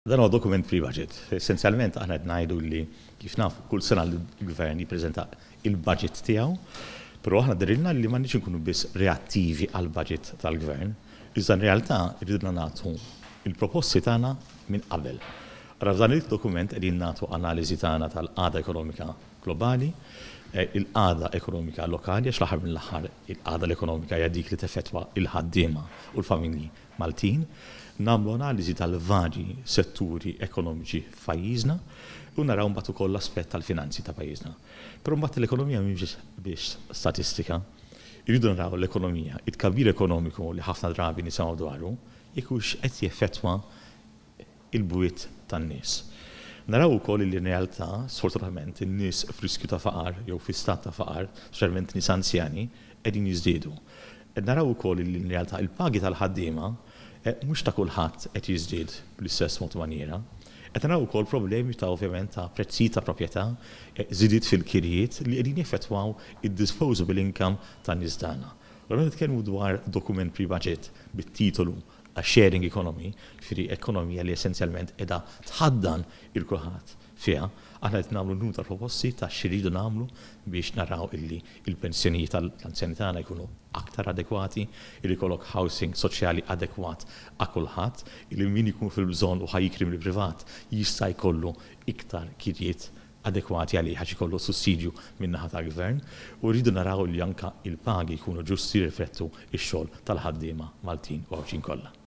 Dan huwa dokument pre-budget. Essenzjalment aħna qed ngħidu li kif nafu kull sena l-gvern jippreżenta il-budget tiegħu, però aħna dehrilna li m'għandniex inkunu biss reattivi għall-budget tal-gvern, iżda in realtà rridna nagħtu il-proposti tagħna minn qabel. Ara, f'dan il-dokument qegħdin nagħtu analiżi tagħna tal-qagħda ekonomika globali, il-qagħda ekonomika lokali, għax l-aħħar mill-aħħar il-qagħda l-ekonomika hija dik li teffettwa il-ħaddiema u l-familji Maltin, nagħmlu analiżi tal-varji setturi ekonomiċi f'pajjiżna u naraw mbagħad ukoll l-aspett tal-finanzi ta' pajjiżna. Però mbagħad l-ekonomija mhix biss statistika. Irridu naraw l-ekonomija, it-tkabbir ekonomiku li ħafna drabi nisimgħu dwaru, jekk hux qed jeffettwa il-bwiet tan-nies. Naraw ukoll li in realtà, sfortunatament, in-nies f'riskju ta' faqar jew fi stat ta' faqar, speċjalment nies anzjani, qegħdin jiżdiedu. Naraw ukoll li in realtà il-pagi tal-ħaddiema mhux ta' kulħadd qed jiżdied bl-istess mod maniera. Qed naraw ukoll problemi ta' ovvjament ta' prezzijiet ta' proprjetà, żidiet fil-kirjiet li qegħdin jeffettwaw id-disposable income tan-nies tagħna. Allura nitkellmu dwar dokument pre-budget bit-titolu A Sharing Economy, ġifieri ekonomija li essenzjalment qiegħda tħaddan il kulħadd fiha. Aħna qed nagħmlu numru ta' proposti ta' x'iridu nagħmlu biex naraw illi il-pensjonijiet tal-anzjani tagħna jkunu aktar adekwati, illi jkollok housing soċjali adekwat għal kulħadd, illi min ikun fil-bżonn u ħa jikri mill-privat jista' jkollu iktar kirjiet adekwati għalih għax ikollu sussidju min-naħa tal-gvern, u rridu naraw li anka il-pagi jkunu ġusti, jirriflettu x-xogħol tal-ħaddiema Maltin u Għawdxin kollha.